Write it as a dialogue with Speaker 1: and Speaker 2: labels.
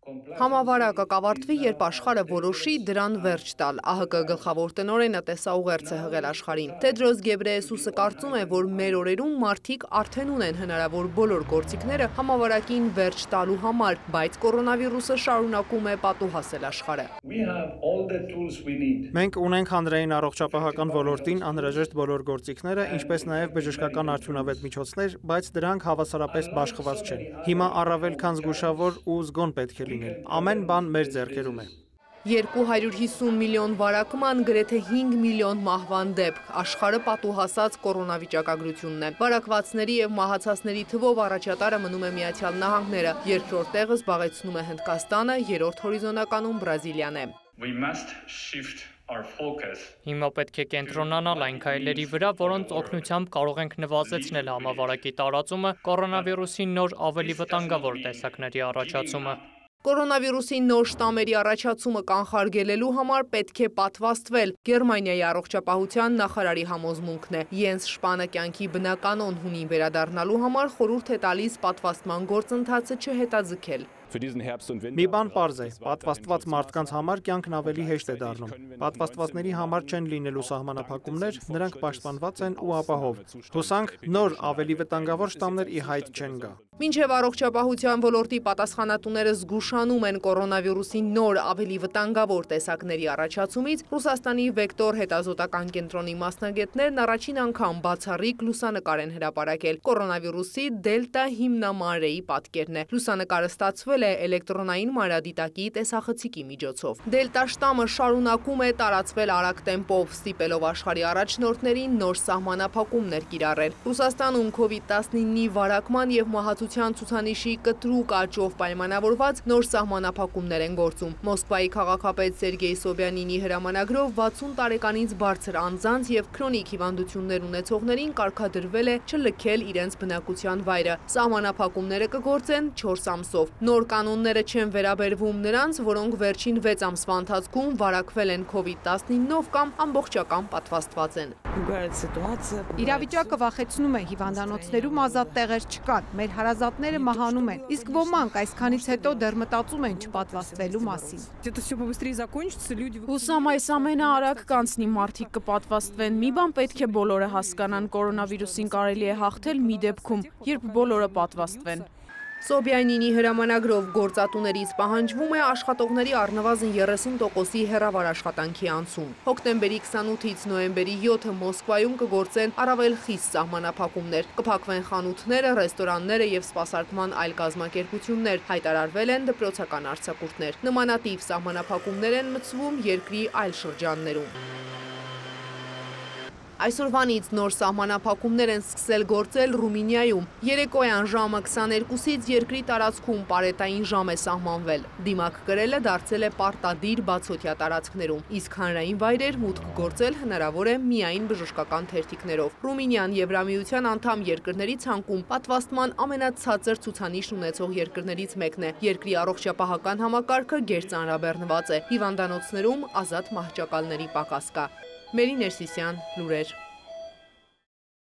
Speaker 1: Համավարակը կավարտվի, երբ աշխարհը որոշի դրան վերջ տալ, ԱՀԿ գլխավոր տնօրենը տեսաուղերձ է հղել աշխարհին։ Թեդրոս Գեբրեյեսուսը կարծում է, որ մեր օրերում մարդիկ արդեն ունեն հնարավոր բոլոր գործիքները համավարակին վերջ տալու համար, բայց կորոնավիրուսը շարունակում է պատուհասել աշխարհը։
Speaker 2: Մենք ունենք հանրային առողջապահական ոլորտին անհրաժեշտ բոլոր գործիքները, ինչպես նաև բժշկական արդյունավետ միջոցներ, բայց դրանք հավասարապես բաշխված չեն։ Հիմա առավել քան զգուշավոր ու զգոն պետք է լինել։ Ամեն բան մեր ձեռքերում է։
Speaker 1: 250 միլիոն վարակման, գրեթե 5 միլիոն մահվան դեպք, աշխարհը պատուհասած կորոնավիճակագրությունն է։ Վարակվածների եւ մահացածների թվով առաջատարը մնում է Միացյալ Նահանգները, երկրորդ տեղը զբաղեցնում է Հնդկաստանը, երրորդ հորիզոնականում Բրազիլիան է։
Speaker 3: Հիմա պետք է կենտրոնանալ այն քայլերի վրա, որոնց օգնությամբ կարող ենք նվազեցնել համավարակի տարածումը, կորոնավիրուսի նոր ավելի վտանգավոր տեսակների առաջացումը։
Speaker 1: Կորոնավիրուսի նոր շտամերի առաջացումը կանխարգելելու համար պետք է պատվաստվել։ Գերմանիայի առողջապահության նախարարի համոզմունքն է։ Յենս Շպանը կյանքի բնականոն հունին վերադառնալու համար խորհուրդ է տալիս պատվաստման գործընթացը չհետաձգել։
Speaker 2: Մի բան պարզ է, պատվաստված մարդկանց համար կյանքն ավելի հեշտ է դառնում։ Պատվաստվածների համար չեն լինելու սահմանափակումներ, նրանք պաշտպանված են ու ապահով։ Հուսանք նոր ավելի վտանգավոր շտամներ ի հայտ չեն գա։
Speaker 1: Մինչև առողջապահության ոլորտի պատասխանատուները զգուշանում են կորոնավիրուսի նոր ավելի վտանգավոր տեսակների առաջացումից, Ռուսաստանի Վեկտոր հետազոտական կենտրոնի մասնագետներն առաջին անգամ բացառիկ լուսանկար են հրապարակել։ Կորոնավիրուսի դելտա հիմնամանրեի պատկերն է։ Լուսանկարը ստացվել է էլեկտրոնային մանրադիտակի տեսախցիկի միջոցով։ Դելտա շտամը շարունակում է տարածվել արագ տեմպով, ստիպելով աշխարհի առաջնորդներին նոր սահմանափակումներ կիրառել։ Ռուսաստանում COVID-19-ի վարակման եւ մահացության ցուցանիշի կտրուկ աճով պայմանավորված նոր սահմանափակումներ են գործում։ Մոսկվայի քաղաքապետ Սերգեյ Սոբյանինի հրամանագրով 60 տարեկանից բարձր անձանց եւ քրոնիկ հիվանդություններ ունեցողներին կարգադրվել է չլքել իրենց բնակության վայրը։ Սահմանափակումները կգործեն 4 ամսով։ Նոր կանոնները չեն վերաբերվում նրանց, որոնք վերջին 6 ամսվա ընթացքում վարակվել են COVID-19-ով կամ ամբողջական պատվաստված են։
Speaker 4: Իրավիճակը վախեցնում է, հիվանդանոցներում ազատ տեղեր չկան, մեր հարազատները մահանում են, իսկ ոմանք այսքանից հետո դեռ մտածում են չպատվաստվելու մասին։
Speaker 5: Հուսամ այս ամենը արագ կանցնի, մարդիկ կպատվաստվեն։ Մի բան պետք է բոլորը հասկանան, կորոնավիրուսին կարելի է հաղթել մի դեպքում, երբ բոլորը պատվաստվեն։
Speaker 1: Սոբյանինի հրամանագրով գործատուներից պահանջվում է աշխատողների առնվազն 30%-ի հեռավար աշխատանքի անցում։ Հոկտեմբերի 28-ից նոյեմբերի 7-ը Մոսկվայում կգործեն առավել խիստ սահմանափակումներ, կփակվեն խանութները, ռեստորանները եւ սպասարկման այլ կազմակերպություններ, հայտարարվել են դպրոցական արձակուրդներ։ Նմանատիպ սահմանափակումներ են մտցվում երկրի այլ շրջաններում։ Այսօրվանից նոր սահմանափակումներ են սկսել գործել Ռումինիայում։ Երեկոյան ժամը 22-ից երկրի տարածքում պարետային ժամ է սահմանվել։ Դիմակ կրելը դարձել է պարտադիր բացօթյա տարածքներում, իսկ հանրային վայրեր մուտք գործել հնարավոր է միայն բժշկական թերթիկներով։ Ռումինիան Եվրամիության անդամ երկրների ցանկում պատվաստման ամենացածր ցուցանիշ ունեցող երկրներից մեկն է։ Երկրի առողջապահական համակարգը գերծանրաբեռնված է։ Հիվանդանոցներում ազատ մահճակալների պակաս կա։ Մերի Ներսիսյան, լուրեր։